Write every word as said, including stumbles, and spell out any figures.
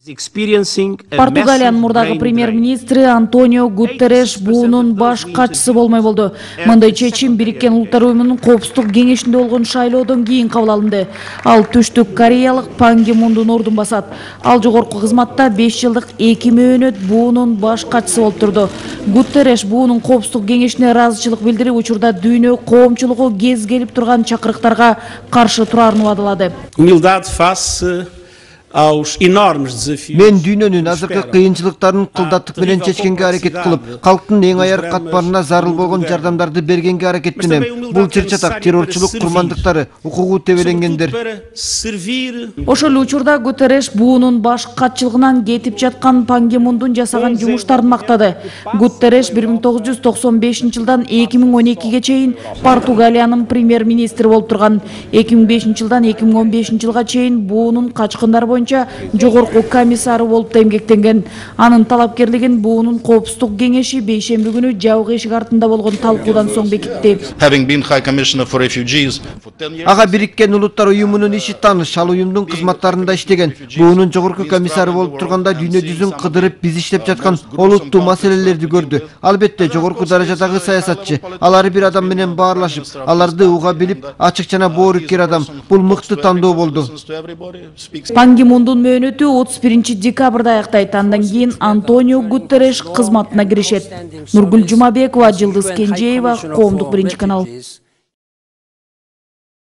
Португалиянын мурдагы премьер-министри Антонио Гутерреш буунун баш катчысы болмой болду. Мындай чечим Бириккен Улуттар Уюмунун Коопсуздук кеңешинде болгон шайлоодон кийин кабыл алынды. Ал Түштүк Кореялык Пан Ги Мундун ордун басат. Ал жогорку кызматта беш жылдык эки мөөнөт буунун баш катчысы болуп турду. Гутерреш буунун Коопсуздук кеңешине ыраазычылык билдирип, учурда дүйнө коомчулугу кез келип турган чакырыктарга каршы турарын убадалады. Мен дүйнөнүн азыркы кыйынчылыктарын кылдаттык менен чечкенге аракет кылып, калктын эң аяр катмарына зарыл болгон жардамдарды бергенге аракеттенем. Бул чыр-чатак террорчулук курмандыктары, укугу тебеленгендер. Ошол эле учурда Гутерреш буунун баш катчылыгынан кетип жаткан Пан Ги Мундун жасаган жумуштарын мактады. Гутерреш бир миң тогуз жүз токсон бешинчи жылдан эки миң он экиге чейин Португалиянын премьер-министри болуп турган. эки миң бешинчи жылдан эки миң он бешинчи жылга чейин буунун качкындары боюнча жогорку комиссары болуп да эмгектенген. Анын талапкерлигин буунун Коопсуздук кеңеши бейшемби күнү жабык эшик артында болгон талкуудан соң бекитти. Ага Бириккен Улуттар Уюмунун иши тааныш, ал уюмдун кызматтарында иштеген. Буунун жогорку комиссары болуп турганда дүйнө жүзүн кыдырып биз иштеп жаткан олуттуу маселелерди көрдү. Албетте жогорку даражадагы саясатчы, алар бир адам менен баарлашып, аларды уга билип, ачык жана боорукер адам. Бул мыкты тандоо болду. Пан Ги Мундун мөөнөтү отуз биринчи декабрда аяктайт. Андан кийин Антонио Гутерреш кызматына киришет. Нургүл Жумабекова, Жылдыз Кенжеева, Коомдук биринчи канал.